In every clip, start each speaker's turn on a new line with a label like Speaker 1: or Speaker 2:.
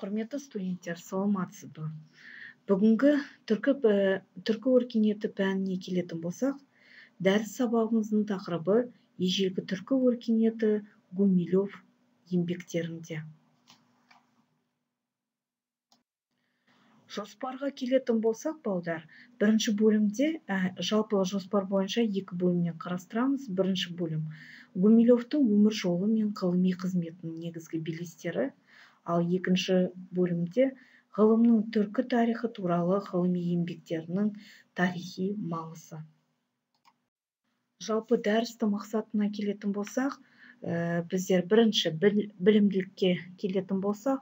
Speaker 1: Құрметті студенттер, саламатсыз ба? Бүгінгі түркі өркениеті пәніне келетін болсақ, дәріс сабағымыздың тақырыбы ежелгі түркі өркениеті Гумилев еңбектерінде. Жоспарға келетін болсақ, балдар, бірінші бөлімде жалпы жоспар бойынша екі бөлімнен қарастырамыз. Бірінші бөлім Гумилевтің өмір жолы мен ғылыми қызметінің негізгі белестері, ал екінші бөлімде ғылымның түркі тарихы туралы ғылыми еңбектерінің тарихи маңызы. Жалпы дәрістің мақсатына келетін болсақ, біздер бірінші білімділікке келетін болсақ,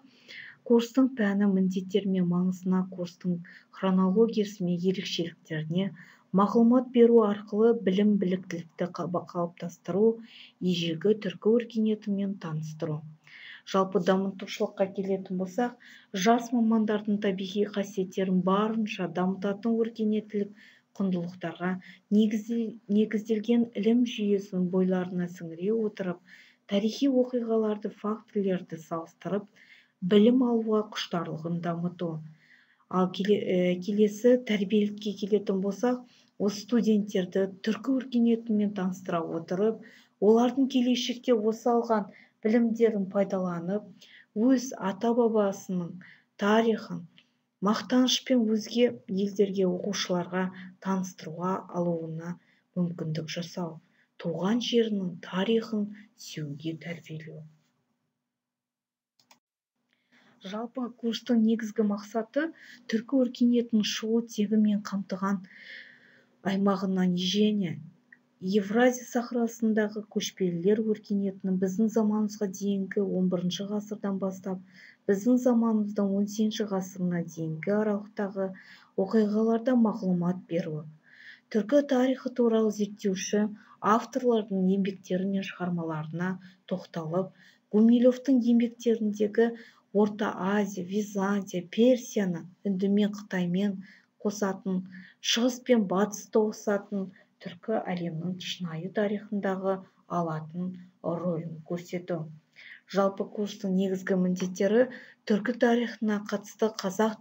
Speaker 1: курстың пәні, міндеттері мен маңызына, курстың хронологиясы мен ерекшеліктеріне мағлұмат беру арқылы білім біліктілікті қалыптастыру, ежелгі түркі өркениетімен таныстыру. Жалпы дамытушылыққа келетін болсақ, жас мамандардың табиғи қасиеттерін барынша дамытатын өркениеттілік құндылықтарға негізделген ілім жүйесін бойларына сіңіре отырып, тарихи оқиғаларды, фактілерді салыстырып, білім алуға құштарлығын дамыту. Ал келесі тәрбиелікке келетін болсақ, осы студенттерді түркі өркениетімен таныстыра отырып, олардың келешекте осы алған білімдерін пайдаланып, өз ата-бабасының тарихын мақтанышпен өзге елдерге, оқушыларға таныстыруға алуына мүмкіндік жасау, туған жерінің тарихын сүюге тәрбиелеу. Жалпы курстың негізгі мақсаты түркі өркениетінің шығу тегімен қамтыған аймағынан және Евразия сахарасындағы көшпелілер өркениетінің біздің заманымызға дейінгі 11 ғасырдан бастап, біздің заманымыздың 18 ғасырына дейінгі аралықтағы оқиғаларда мағлұмат беру. Түркі тарихы туралы зерттеуші авторлардың еңбектері мен шығармаларына тоқталып, Гумилевтің еңбектеріндегі Орта Азия, Византия, Персияны үндімен, Қытаймен қосатын, шығыс пен батыс тоғысатын түркі әлемінің шынайы тарихындағы алатын рөлін көрсету. Жалпы курстың негізгі міндеттері түркі тарихына қатысты қазақ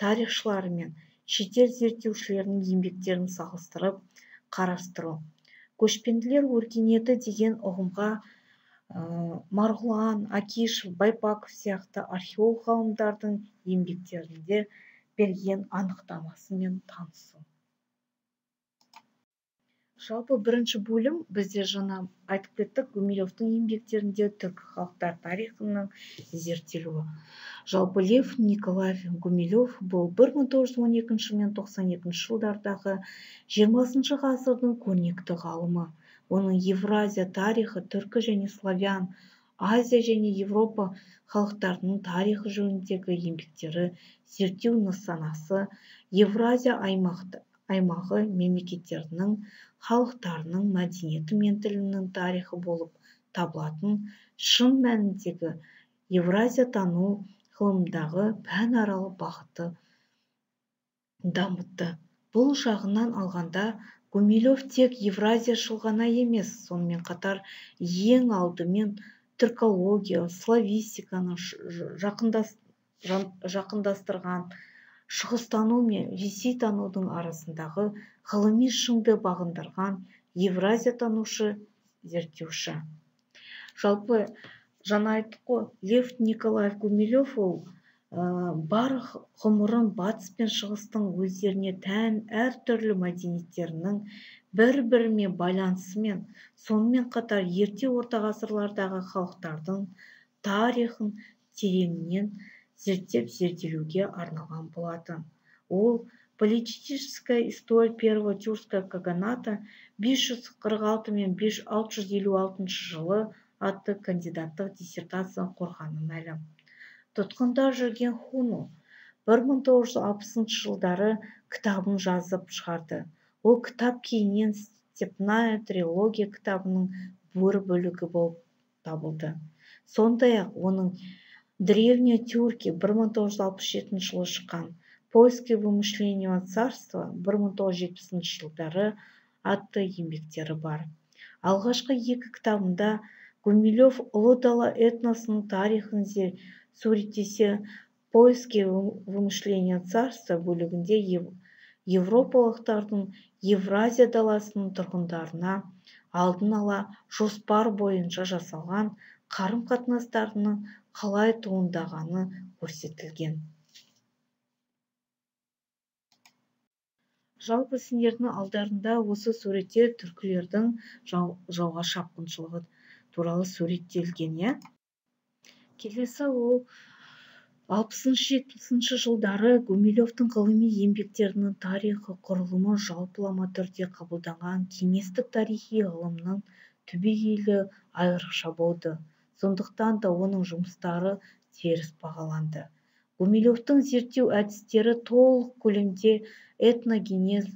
Speaker 1: тарихшылары мен шетел зерттеушілерінің еңбектерін салыстырып қарастыру. Көшпенділер өркениеті деген ұғымға Марғұлан, Акишев, Байпаков сияқты археолог ғалымдардың еңбектерінде берген анықтамасымен танысу. Жалпы бірінші бөлім бізде жаңа айтып кеттік, Гумилевтің еңбектерінде түркі халықтар тарихының зерттелуі. Жалпы Лев Николаев Гумилев бұл 1912 мен 92 жылдардағы 20 ғасырдың көрнекті ғалымы. Оның Евразия тарихы, түркі және славян, Азия және Европа халықтарының тарихы жөніндегі еңбектері, зерттеу нысанасы Евразия аймағы мемлекеттерінің халықтарының мәдениеті мен тілінің тарихы болып табылатын шын мәніндегі Евразия тану ғылымдағы пәнаралық бағыты дамытты. Бұл жағынан алғанда Гумилев тек Евразияшыл ғана емес, сонымен қатар ең алдымен түркология, славистиканы жақындастырған, шығыстану мен ресейтанудың арасындағы ғылыми шыңды бағындырған Евразия танушы, зерттеуші. Жалпы жаңа айттық қой, Лев Николаев Гумилев ол бар ғұмырын батыс пен шығыстың өздеріне тән әртүрлі мәдениеттерінің бір-бірімен байланысымен, сонымен қатар ерте орта ғасырлардағы халықтардың тарихын тереңінен зерттелуге арналған болатын. Ол политическая история первого тюркского каганата 546 мен 656 жылы атты кандидаттық диссертацияны қорғаны мәлім. Тұтқында жүрген Хуну 1960 жылдары кітабын жазып шығарды. Ол кітап кейіннен Степная трилогия кітабының бір бөлігі болып табылды. Сондай-ақ оның Древние тюрки 1967 жылы шыққан, Поиски вымышленного царства 1970 жылдары атты еңбектері бар. Алғашқы екі кітабында Гумилев ұлы дала этносының тарихын суреттесе, поиски вымышления царства бөлігінде европалықтардың Евразия даласының тұрғындарына алдын ала жоспар бойынша жасалған қарым-қатынастарының қалай туындағаны көрсетілген. Жалпы сендердің алдарында осы суретте түркілердің жауға шапқыншылығы туралы суреттелген, иә? Келесі ол 60-70 жылдары Гумилевтің ғылыми еңбектерінің тарихы құрылымы жалпылама түрде қабылданған кеңестік тарихи ғылымның түбегейлі айрықша болды. Сондықтан да оның жұмыстары теріс бағаланды. Гумилевтің зерттеу әдістері толық көлемде этногенез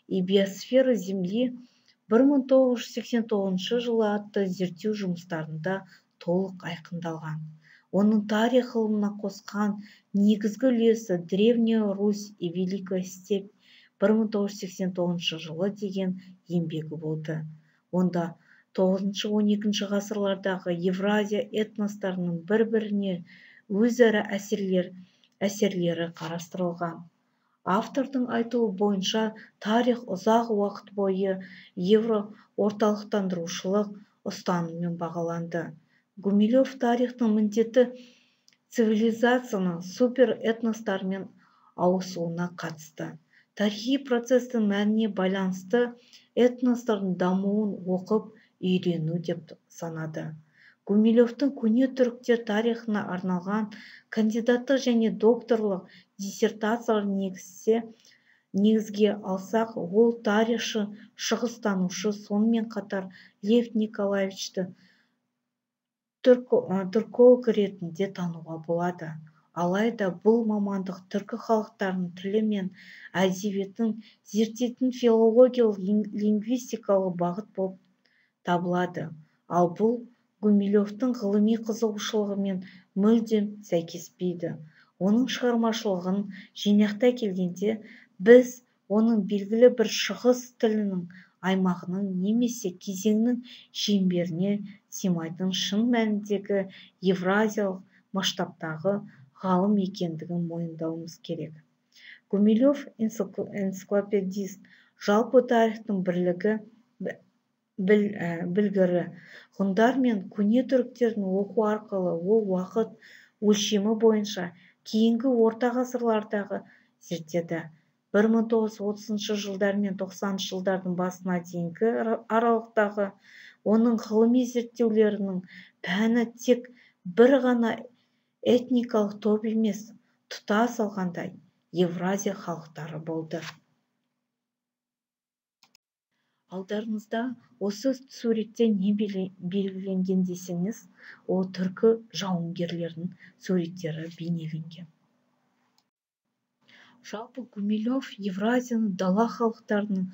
Speaker 1: и биосфера Земли 1989 жылы атты зерттеу жұмыстарында толық айқындалған. Оның тарих ғылымына қосқан негізгі үлесі Древняя Русь и Великая Степь 1989 жылы деген еңбегі болды. Онда 9-12 ғасырлардағы Евразия этностарының бір-біріне өзара әсерлері қарастырылған. Автордың айтуы бойынша тарих ұзақ уақыт бойы евроорталықтандырушылық ұстаныммен бағаланды. Гумилев тарихтың міндеті цивилизацияның супер этностармен ауысуына қатысты. Тарихи процестің мәніне байланысты этностардың дамуын оқып үйрену деп санады. Гумилевтің көне түріктер тарихына арналған кандидаттық және докторлық диссертациялар негізге алсақ, ол тарихшы, шығыстанушы, сонымен қатар Лев Николаевичті түрколог ретінде тануға болады. Алайда бұл мамандық түркі халықтарының тілі мен әдебиетін зерттейтін филологиялық лингвистикалық бағыт болып табылады. Ал бұл Гумилевтің ғылыми қызығушылығымен мүлдем сәйкеспейді. Оның шығармашылығын жинақтай келгенде, біз оның белгілі бір шығыс тілінің аймағының немесе кезеңнің шеңберіне сыймайтын шын мәніндегі евразиялық масштабтағы ғалым екендігін мойындауымыз керек. Гумилев энциклопедист, жалпы тарихтың білгірі. Ғұндар мен көне түріктерін оқу арқылы ол уақыт өлшемі бойынша кейінгі орта ғасырлардағы зерттеді. 1930 жылдар мен 90 жылдардың басына дейінгі аралықтағы оның ғылыми зерттеулерінің пәні тек бір ғана этникалық топ емес, тұтас алғанда Евразия халықтары болды. Алдарыңызда осы суретте не белгіленген десеңіз, ол түркі жауынгерлерінің суреттері бейнеленген. Жалпы Гумилев Евразияны дала халықтарының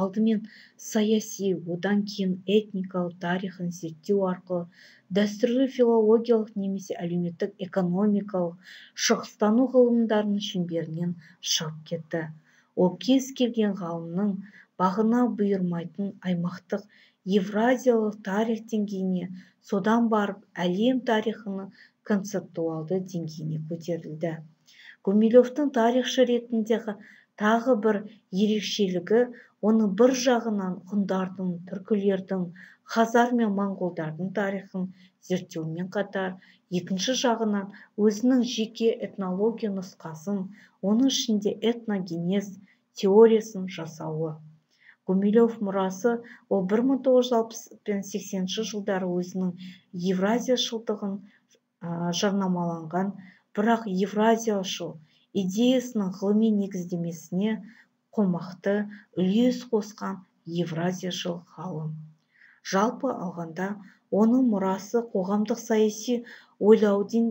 Speaker 1: алдымен саяси, одан кейін этникалық тарихын зерттеу арқылы дәстүрлі филологиялық немесе әлеуметтік экономикалық шығыстану ғылымдарының шеңберінен шығып кетті. Ол кез келген ғалымның бағына бұйырмайтын аймақтық евразиялық тарих деңгейіне, содан барып әлем тарихының концептуалды деңгейіне көтерілді. Гумилевтің тарихшы ретіндегі тағы бір ерекшелігі, оны бір жағынан ғұндардың, түркілердің, хазар мен моңғолдардың тарихын зерттеумен қатар, екінші жағынан өзінің жеке этнология нұсқасын, оның ішінде этногенез теориясын жасауы. Гумилев мұрасы ол 1960-80 жылдары өзінің евразияшылдығын жарнамаланған, бірақ евразияшыл идеясының ғылыми негіздемесіне қомақты үлес қосқан евразияшыл ғалым. Жалпы алғанда, оның мұрасы қоғамдық саяси ойлаудың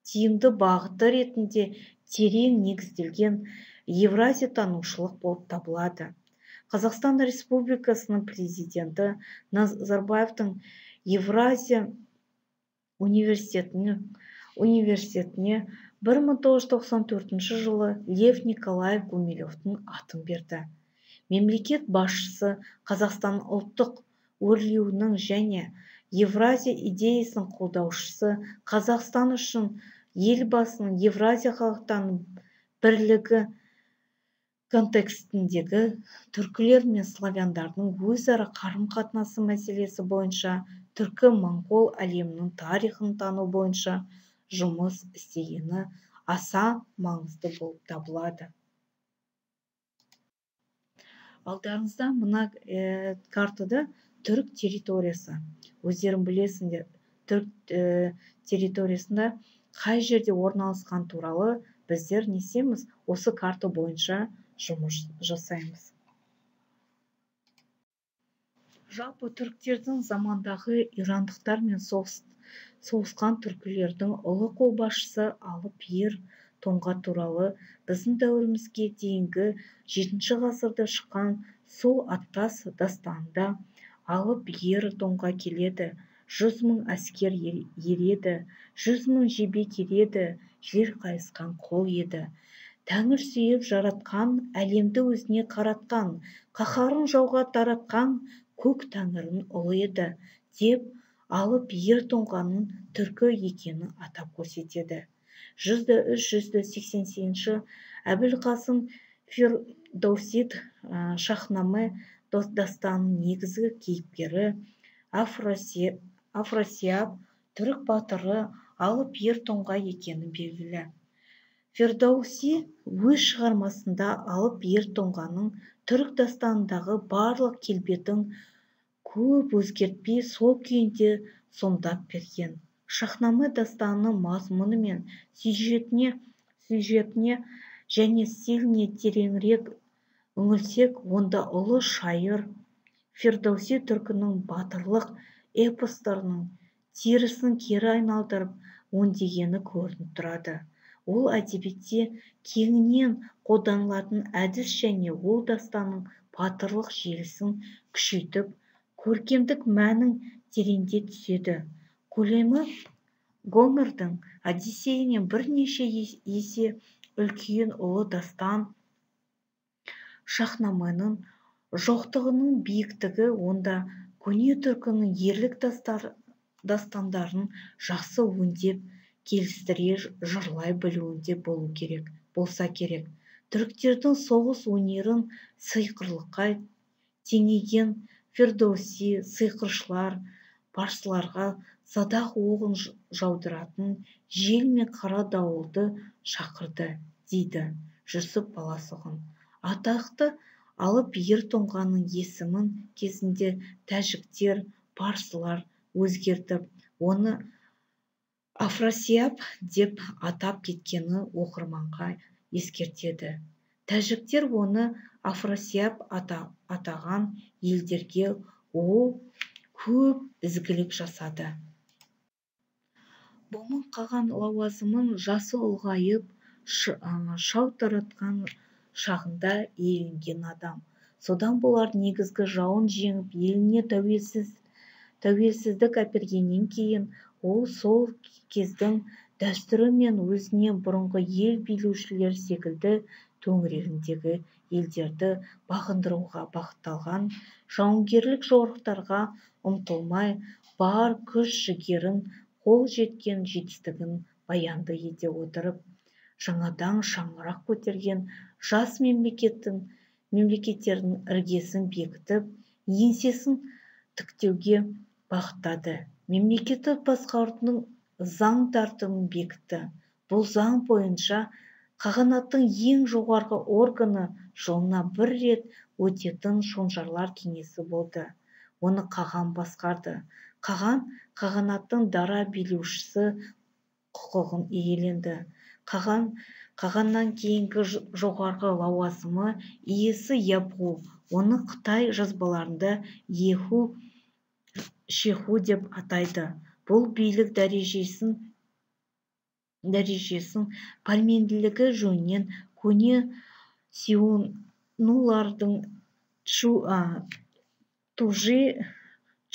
Speaker 1: тиімді бағыты ретінде терең негізделген евразия танушылық болып табылады. Қазақстан Республикасының президенті Назарбаевтың Евразия университетіне 1994 жылы Лев Николаев Гумилевтің атын берді. Мемлекет басшысы Қазақстан ұлттық өрлеуінің және Евразия идеясының қолдаушысы, Қазақстан үшін елбасының Евразия халықтарының бірлігі контекстіндегі түркілер мен славяндардың өзара қарым-қатынасы мәселесі бойынша түркі-моңғол әлемінің тарихын тану бойынша жұмыс істегені аса маңызды болып табылады. Алдарыңызда мына картада түрік территориясы. Өздерің білесіңдер, түрік территориясында қай жерде орналасқан туралы біздер не істейміз? Осы карта бойынша жұмыс жасаймыз. Жалпы түріктердің замандағы ирандықтар мен соғысқан түркілердің ұлы қолбасшысы Алып ер тоңға туралы біздің дәуірімізге дейінгі 7 ғасырда шыққан сол Аттас дастанында Алып ер тоңға келеді, 100 000 әскер ереді, 100 000 жебе келеді, жер қайысқан қол еді. Тәңір сүйіп жаратқан, әлемді өзіне қаратқан, қаһарын жауға таратқан, көк тәңірінің ұлы еді, деп Алып ер тоңғаның түркі екенін атап көрсетеді. 103-188 Әбілқасым Фирдоусид Шахнаме дастанының негізгі кейіпкері Афрасияп түрік батыры Алып ер тоңға екені белгілі. Фирдоуси өз шығармасында Алып ер тоңғаның түрік дастанындағы барлық келбетін көп өзгертпей сол күйінде сомдап берген. Шахнаме дастанының мазмұны мен сюжетіне және стиліне тереңірек үңілсек, онда ұлы шайыр Фирдоуси түркінің батырлық эпостарының терісін кері айналдырып өңдегені көрініп тұрады. Ол әдебиетте кеңінен қолданылатын әдіс және ол дастанның батырлық желісін күшейтіп, көркемдік мәнін тереңде түседі. Көлемі Гомердің Одиссейінен бірнеше есе үлкен ұлы дастан Шахнаменің жоқтығының биіктігі онда көне түркінің ерлік дастандарын жақсы өңдеп, келістіре жырлай білуінде болса керек. Түріктердің соғыс өнерін сыйқырлыққа теңеген Фирдоуси сиқыршылар, парсыларға садақ оғын жаудыратын жел мен қара дауылды шақырды, дейді Жүсіп Баласұғын. Атақты Алып ер тоңғаның есімін кезінде тәжіктер, парсылар өзгертіп, оны Афрасияп деп атап кеткені оқырманға ескертеді. Тәжіктер оны Афрасияп атаған елдерге ол көп ізгілік жасады. Бомын қаған лауазымын жасы ұлғайып, шау таратқан шағында иеленген адам. Содан болар негізгі жауын жеңіп, еліне тәуелсіздік әпергеннен кейін, ол сол кездің дәстүрі мен өзіне бұрынғы ел билеушілер секілді төңірегіндегі елдерді бағындыруға бағытталған жауынгерлік жорықтарға ұмтылмай, бар күш-жігерін, қол жеткен жетістігін баянды ете отырып, жаңадан шаңырақ көтерген жас мемлекеттердің іргесін бекітіп, еңсесін тіктеуге бағыттады. Мемлекетті басқарудың заң тәртібін бекітті. Бұл заң бойынша қағанаттың ең жоғарғы органы жылына 1 рет өтетін шонжарлар кеңесі болды. Оны қаған басқарды. Қағанаттың дара билеушісі құқығын иеленді. Қағаннан кейінгі жоғарғы лауазымы иесі Ябғу. Оны Қытай жазбаларында Еху Шеху деп атайды. Бұл билік дәрежесін пәрменділігі жөнінен көне сионулардың Тужи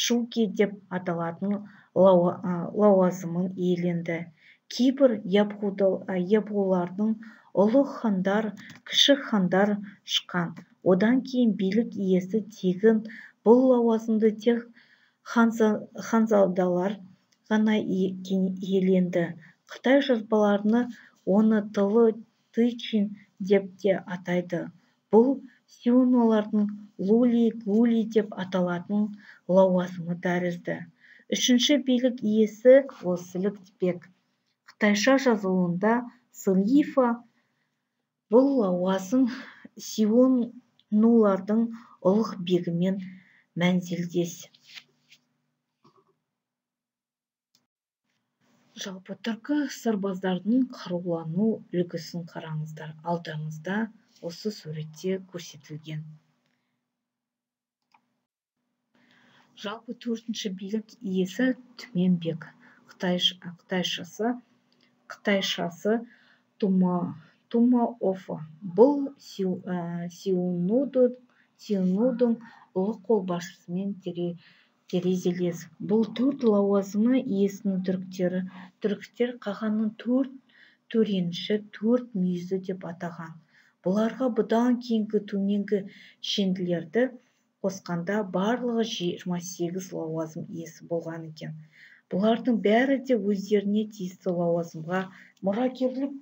Speaker 1: Чуки деп аталатын лауазымын иеленді. Кейбір ябғулардың ұлы хандар, кіші хандар шыққан. Одан кейін билік иесі тегін бұл лауазымды тек ханзадалар ғана иеленді. Қытай жазбаларына оны тылы тычин деп те атайды. Бұл сюанулардың лули-гули деп аталатын лауазымы тәрізді. Үшінші билік иесі ол сіліктіпек. Қытайша жазылуында сылифа. Бұл лауазым сюанулардың ұлық бегімен мәнзілдес. Жалпы түркі сарбаздардың қарулану үлгісін қараңыздар. Алдыңызда осы суретте көрсетілген. Жалпы төртінші билік иесі Түменбек. Қытайшасы Тумаофа. Бұл Сюанудың ұлы қолбасшысымен терезелес. Бұл төрт лауазымы иесінің түріктер қағанның төрт төреніші, төрт мүйізі деп атаған. Бұларға бұдан кейінгі төменгі шенділерді қосқанда барлығы 28 лауазым иесі болған екен. Бұлардың бәрі де өздеріне тиісті лауазымға мұрагерлік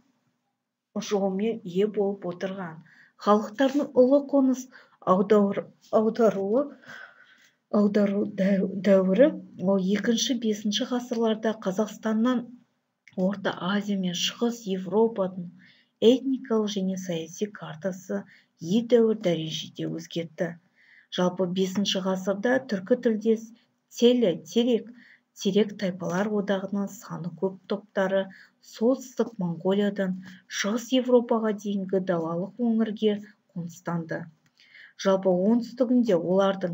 Speaker 1: жолмен ие болып отырған. Халықтардың ұлы қоныс аудару дәуірі ол 2-5 ғасырларда Қазақстаннан Орта Азия мен Шығыс Европаның этникалық және саяси картасы едәуір дәрежеде өзгерді. Жалпы 5 ғасырда түркі тілдес терек тайпалар одағының саны көп топтары солтүстік Монғолиядан Шығыс Европаға дейінгі далалық өңірге қоныстанды. Жалпы оңтүстігінде олардың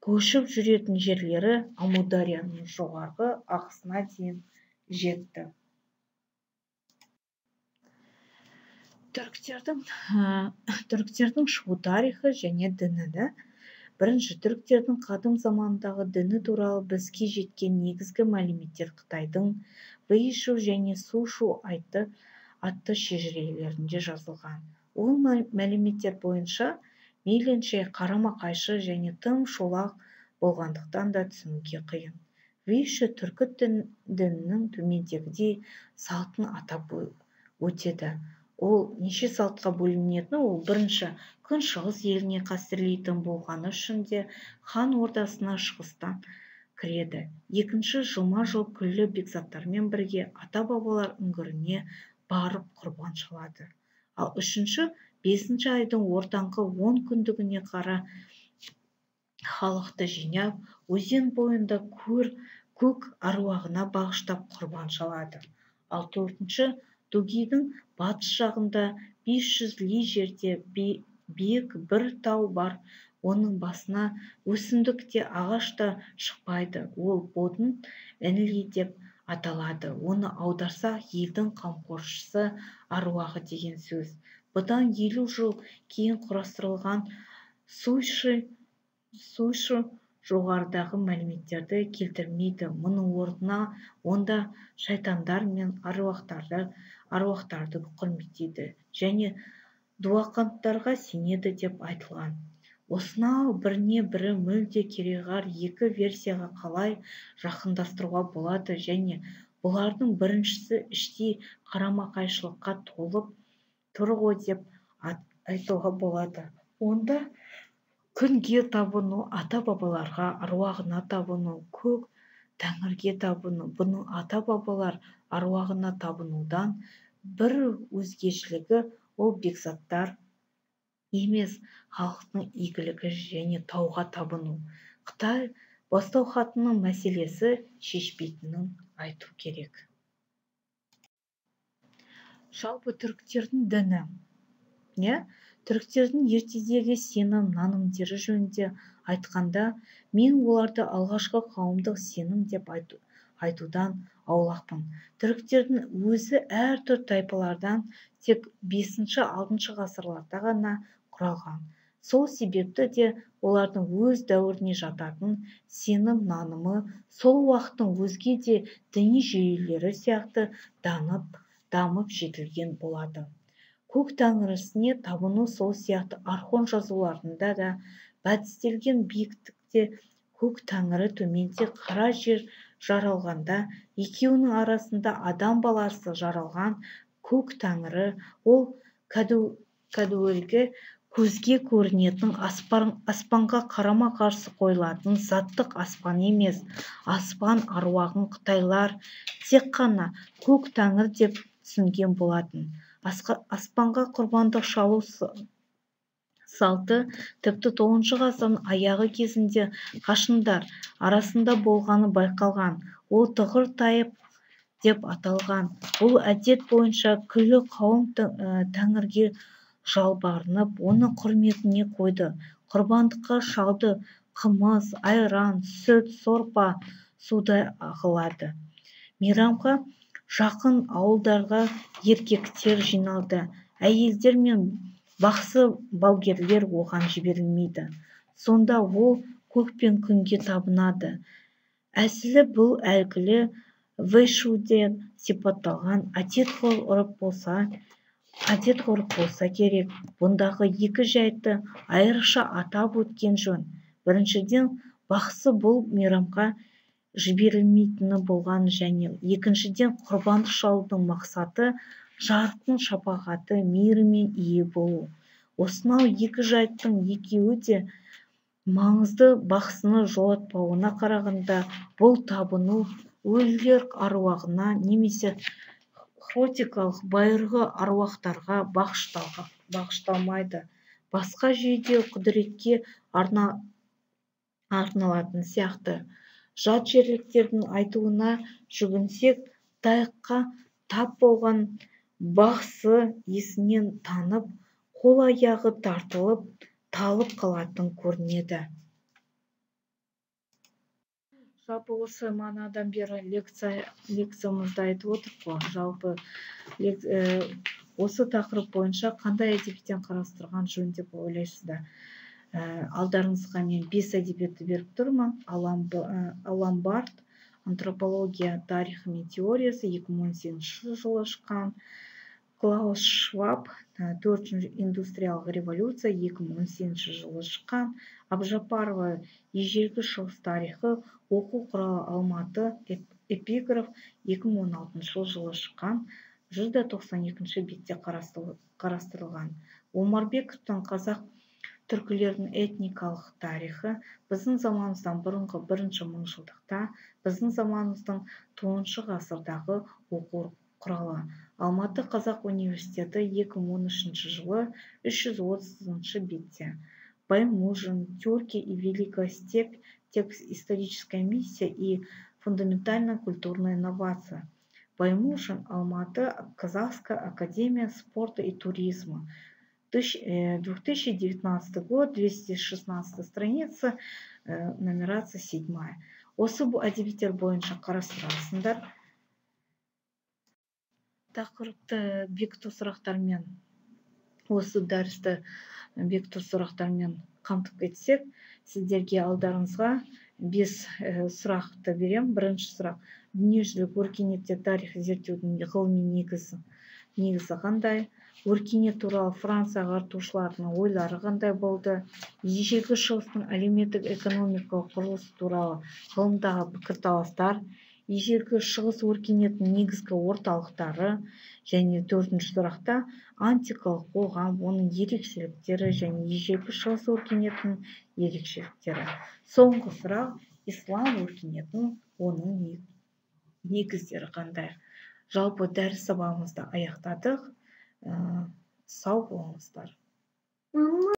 Speaker 1: көшіп жүретін жерлері Амударияның жоғарғы ағысына дейін жетті. Түріктердің шығу тарихы және діні. Бірінші, түріктердің қадым замандағы діні туралы бізге жеткен негізгі мәліметтер Қытайдың Вэйшу және Сушу атты шежірелерінде жазылған. Ол мәліметтер бойынша мейлінше қарама-қайшы және тым шолақ болғандықтан да түсінуге қиын. Вэйшу түркі дінінің төмендегідей салтын атап өтеді. Ол неше салтқа бөлінетіні, ол бірінші, күншығыс еліне қастерлейтін болғаны үшін де хан ордасына шығыстан кіреді. Екінші, жылма-жыл күллі бекзаттармен бірге ата-бабалар үңгіріне барып құрбан шалады. Ал үшінші, 5 айдың ортаңғы 10 күндігіне қара халықты жинап, өзен бойында көк аруағына бағыштап құрбан шалады. Ал төртінші, Дугидің батыс жағында 500 ли жерде биік бір тау бар. Оның басына өсімдік те ағаш та шықпайды. Ол Бодын Энли деп аталады. Оны аударсақ, елдің қамқоршысы аруағы деген сөз. Бұдан 50 жыл кейін құрастырылған Суйшы жоғарыдағы мәліметтерді келтірмейді. Мұның орнына онда шайтандар мен аруақтарды құрметтейді және дуақанттарға сенеді деп айтылған. Осынау біріне-бірі мүлде кереғар екі версияға қалай жақындастыруға болады және бұлардың біріншісі іштей қарама-қайшылыққа толып тұр ғой деп айтуға болады. Онда күнге табыну, ата-бабаларға аруағына табыну, көк тәңірге табыну, бұның ата-бабалар аруағына табынудан бір өзгешілігі ол бекзаттар емес, халықтың игілігі және тауға табыну. Қытай бастау хатының мәселесі шешпейтінін айту керек. Жалпы түріктердің діні. Түріктердің ертедегі сенім нанымдері жөнінде айтқанда, мен оларды алғашқы қауымдық сенім деп айтудан аулақпын. Түріктердің өзі әртүрлі тайпалардан тек 5-6 ғасырларда ғана құралған. Сол себепті де олардың өз дәуіріне жататын сенім нанымы сол уақыттың өзге де діни жүйелері сияқты дамып жетілген болады. Көк тәңірісіне табыну сол сияқты архон жазуларында да бәдістелген биіктікте көк тәңірі төменде қара жер жаралғанда, екеуінің арасында адам баласы жаралған көк тәңірі ол кәдуілгі көзге көрінетін аспанға қарама қарсы қойылатын заттық аспан емес. Аспан аруағын қытайлар тек қана көк тәңір деп түсінген болатын. Аспанға құрбандық шалу салты тіпті 9 ғасырдың аяғы кезінде қашындар арасында болғаны байқалған. Ол тұғыр тайып деп аталған. Бұл әдет бойынша күллі қауым тәңірге жалбарынып, оны құрметіне қойды. Құрбандыққа шалды қымыз, айран, сүт, сорпа, судай ағылады. Мейрамға жақын ауылдарға еркектер жиналды. Әйелдер мен бақсы балгерлер оған жіберілмейді. Сонда ол көк пен күнге табынады. Әсілі бұл әлгілі вэйшуде сипатталған әдет-ғұрып болса керек. Бұндағы екі жайтты айрықша атап өткен жөн. Біріншіден, бақсы бұл мейрамға жіберілмейтіні болған және екіншіден, құрбандық шалудың мақсаты жарықтың шапағаты, мейірімен ие болу. Осынау екі жайттың екеуі де маңызды. Бақсыны жолатпауына қарағанда, бұл табыну өлілер аруағына немесе хротикалық байырғы аруақтарға бағышталмайды. Басқа жүйеде құдіретке арналатын сияқты. Жат жерліктердің айтуына жүгінсек, таяққа тап болған бақсы есінен танып, қол-аяғы тартылып, талып қалатын көрінеді. Жалпы осы манадан бері лекциямызды айтып отырмыз. Жалпы осы тақырып бойынша қандай әдебиеттен қарастырған жөн деп ойлайсыздар? Алдарыңызға мен 5 әдебиетті беріп тұрмын. Алан Барт, антропология, тарихы мен теориясы 2018 жылы шыққан. Клаус Шваб, 4-ші индустриялық революция 2018 жылы шыққан. Абжапарова, ежелгі шығыс тарихы, оқу құралы Алматы, эпиграф 2016 жылы шыққан. 192 бетте қарастырылған. Омарбековтың қазақ түркілердің этникалық тарихы біздің заманымыздан бұрынғы 1-ші мыңжылдықта, біздің заманымыздың 9-шы ғасырдағы оқу құралы. Алматы қазақ университеті 2013 жылы 330 бетте. Баймужин, Тюрки и Великая степь, текст «Историческая миссия и фундаментальная культурная инновация». Баймужин, Алматы, Казахская академия спорта и туризма. 2019 год, 216 страница, нумерация 7. Осы әдебиеттер бойынша қарастырасыңдар. Тақырыпты бекіту сұрақтармен, осы дәрісті бекіту сұрақтармен қамтып кетсек, сіздерге алдарыңызға 5 сұрақты берем. Бірінші сұрақ: дүниежүзілік өркениетте тарих зерттеудің ғылыми негізі қандай? Өркениет туралы Франция ағартушыларының ойлары қандай болды? Ежелгі шығыстың әлеуметтік экономикалық құрылысы туралы ғылымдағы пікірталастар. Ежелгі шығыс өркениетінің негізгі орталықтары. Және 4-ші сұрақта антикалық қоғам, оның ерекшеліктері және ежелгі шығыс өркениетінің ерекшеліктері. Соңғы сұрақ: ислам өркениетінің оның негіздері қандай? Жалпы дәріс сабағымызды аяқтадық. Сау болыңыздар.